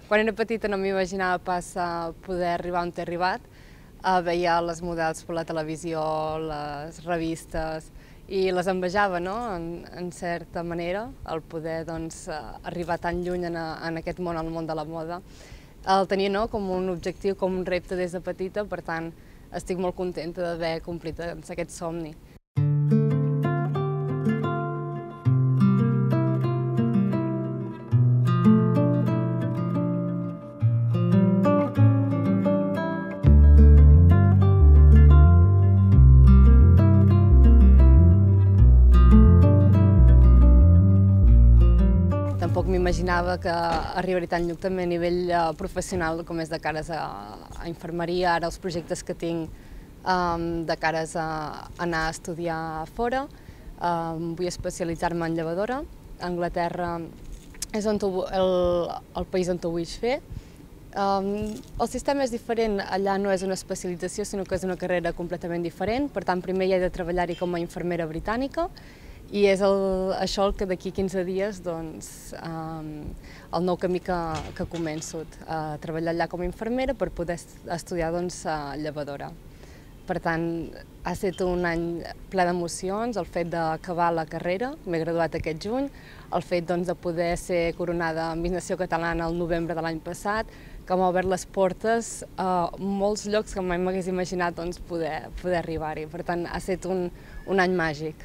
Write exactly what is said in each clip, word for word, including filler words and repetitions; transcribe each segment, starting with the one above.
Quan era petita no m'imaginava pas eh, poder arribar on he arribat. Eh, veia les models per la televisió, les revistes, i les envejava, no?, en, en certa manera, el poder doncs, eh, arribar tan lluny en, a, en aquest món, al món de la moda. El tenia, no?, com un objectiu, com un repte des de petita, per tant, estic molt contenta d'haver complit doncs, aquest somni. Tampoc m'imaginava que arribaria tan lluny també a nivell eh, professional com és de cares a, a infermeria, ara els projectes que tinc um, de cares a anar a estudiar fora. Um, vull especialitzar-me en llevadora. Anglaterra és on ho, el, el país on ho vull fer. Um, el sistema és diferent, allà no és una especialització, sinó que és una carrera completament diferent. Per tant, primer hi he de treballar-hi com a infermera britànica, i és el, això el que d'aquí quinze dies, doncs, um, el nou camí que, que començo, a treballar allà com a infermera per poder estudiar doncs, llevadora. Per tant, ha estat un any ple d'emocions, el fet d'acabar la carrera, m'he graduat aquest juny, el fet doncs, de poder ser coronada Miss Nació Catalana el novembre de l'any passat, que m'ha obert les portes a molts llocs que mai m'hagués imaginat doncs, poder, poder arribar-hi. Per tant, ha estat un, un any màgic.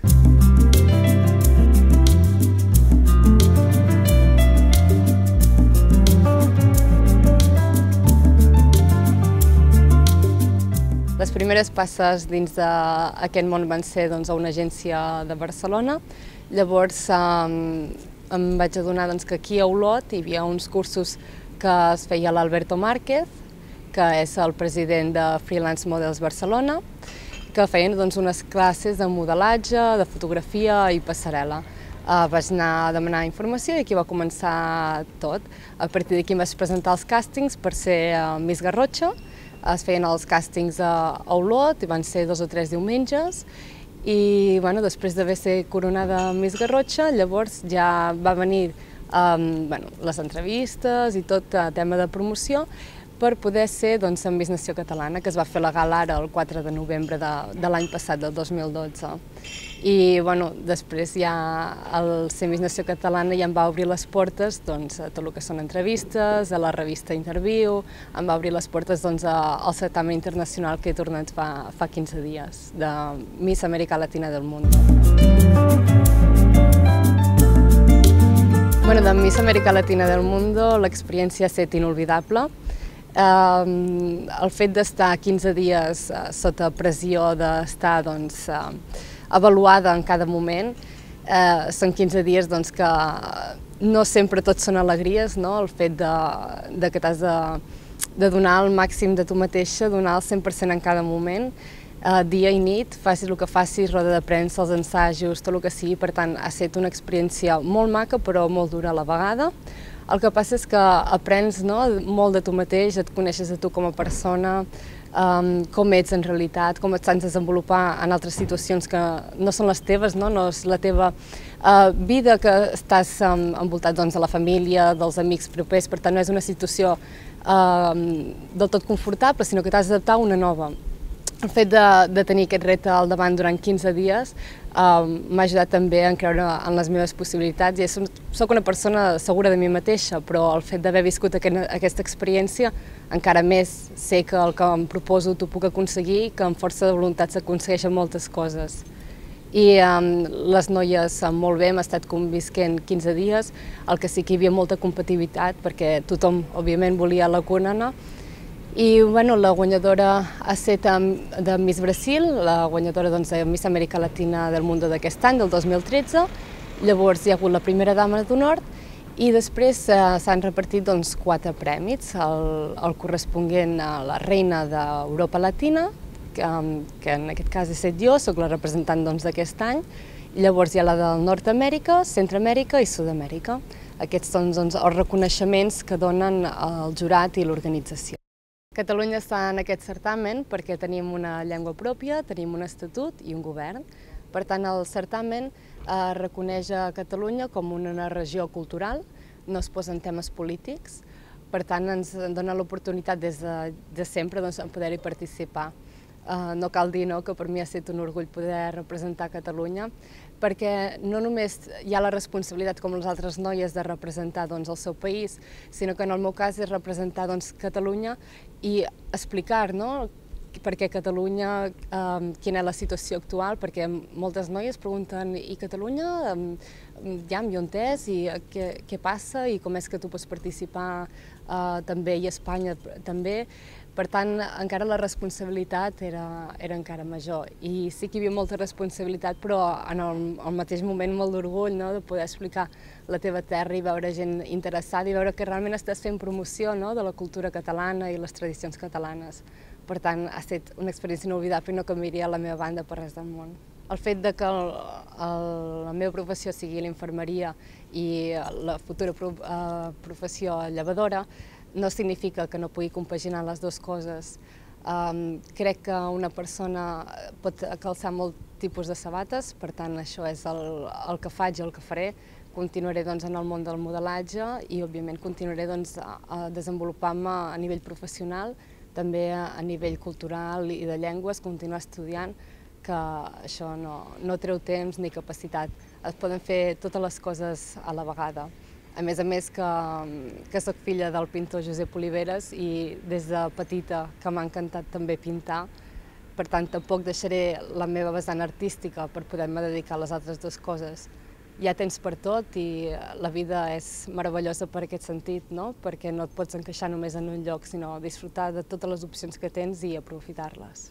Les primeres passes dins d'aquest món van ser doncs, a una agència de Barcelona. Llavors um, em vaig adonar doncs, que aquí a Olot hi havia uns cursos que es feia l'Alberto Márquez, que és el president de Freelance Models Barcelona, que feien doncs, unes classes de modelatge, de fotografia i passarel·la. Uh, vaig anar a demanar informació i aquí va començar tot. A partir d'aquí em vaig presentar als càstings per ser uh, Miss Garrotxa. Es feien els càstings a Olot, i van ser dos o tres diumenges, i bueno, després d'haver estat coronada Miss Garrotxa, llavors ja va venir um, bueno, les entrevistes i tot el tema de promoció per poder ser doncs, en Miss Nació Catalana, que es va fer la gala ara el quatre de novembre de, de l'any passat, del dos mil dotze. I bueno, després ja el ser Miss Nació Catalana ja em va obrir les portes doncs, a tot el que són entrevistes, a la revista Interview, em va obrir les portes doncs, al certamen internacional que he tornat fa, fa quinze dies, de Miss América Latina del Mundo. Bueno, de Miss América Latina del Mundo l'experiència ha estat inolvidable. Uh, el fet d'estar quinze dies uh, sota pressió d'estar doncs, uh, avaluada en cada moment, uh, són quinze dies doncs, que no sempre tot són alegries, no? El fet de, de que t'has de, de donar el màxim de tu mateixa, donar el cent per cent en cada moment, uh, dia i nit, facis el que facis, roda de premsa, els ensajos, tot el que sigui. Per tant, ha estat una experiència molt maca però molt dura a la vegada. El que passa és que aprens no, molt de tu mateix, et coneixes a tu com a persona, um, com ets en realitat, com et saps desenvolupar en altres situacions que no són les teves, no, no és la teva uh, vida, que estàs um, envoltat doncs, de la família, dels amics propers. Per tant, no és una situació uh, del tot confortable, sinó que t'has d'adaptar a una nova. El fet de, de tenir aquest repte al davant durant quinze dies uh, m'ha ajudat també a creure en les meves possibilitats. I soc una persona segura de mi mateixa, però el fet d'haver viscut aquest, aquesta experiència encara més sé que el que em proposo t'ho puc aconseguir, que amb força de voluntat s'aconsegueixen moltes coses. I um, les noies molt bé, hem estat convisquent quinze dies, el que sí que hi havia molta competitivitat, perquè tothom, òbviament, volia la corona. I bueno, la guanyadora ha estat de Miss Brasil, la guanyadora doncs, de Miss Amèrica Latina del Mundo d'aquest any, del dos mil tretze. Llavors hi ha hagut la primera dama d'honor i després eh, s'han repartit doncs, quatre prèmits, el, el corresponent a la reina d'Europa Latina, que, que en aquest cas he estat jo, soc la representant doncs, d'aquest any. Llavors hi ha la del Nord-Amèrica, Centroamèrica i Sud-amèrica. Aquests són doncs, els reconeixements que donen el jurat i l'organització. Catalunya està en aquest certamen perquè tenim una llengua pròpia, tenim un estatut i un govern. Per tant, el certamen eh, reconeix a Catalunya com una regió cultural, no es posen temes polítics, Per tant, ens dona l'oportunitat des de, de sempre doncs, de poder-hi participar. Uh, no cal dir no, que per mi ha estat un orgull poder representar Catalunya, perquè no només hi ha la responsabilitat com les altres noies de representar doncs, el seu país, sinó que en el meu cas és representar doncs, Catalunya i explicar no, per què Catalunya, eh, quina és la situació actual, perquè moltes noies pregunten i Catalunya, eh, ja i on és, i què, què passa, i com és que tu pots participar eh, també, i Espanya també. Per tant, encara la responsabilitat era, era encara major. I sí que hi havia molta responsabilitat, però en el, al mateix moment molt d'orgull no? De poder explicar la teva terra i veure gent interessada i veure que realment estàs fent promoció no? De la cultura catalana i les tradicions catalanes. Per tant, ha estat una experiència inolvidable i no canviaria la meva banda per res del món. El fet de que el, el, la meva professió sigui l'infermeria i la futura pro, eh, professió llevadora no significa que no pugui compaginar les dues coses. Um, crec que una persona pot calçar molt tipus de sabates, per tant això és el, el que faig i el que faré. Continuaré doncs, en el món del modelatge i òbviament continuaré doncs, a, a desenvolupar-me a nivell professional, també a, a nivell cultural i de llengües, continuar estudiant, que això no, no treu temps ni capacitat. Es poden fer totes les coses a la vegada. A més a més que, que soc filla del pintor Josep Oliveres i des de petita que m'ha encantat també pintar, per tant tampoc deixaré la meva vessant artística per poder-me dedicar a les altres dues coses. Hi ha temps per tot i la vida és meravellosa per aquest sentit, no? Perquè no et pots encaixar només en un lloc, sinó disfrutar de totes les opcions que tens i aprofitar-les.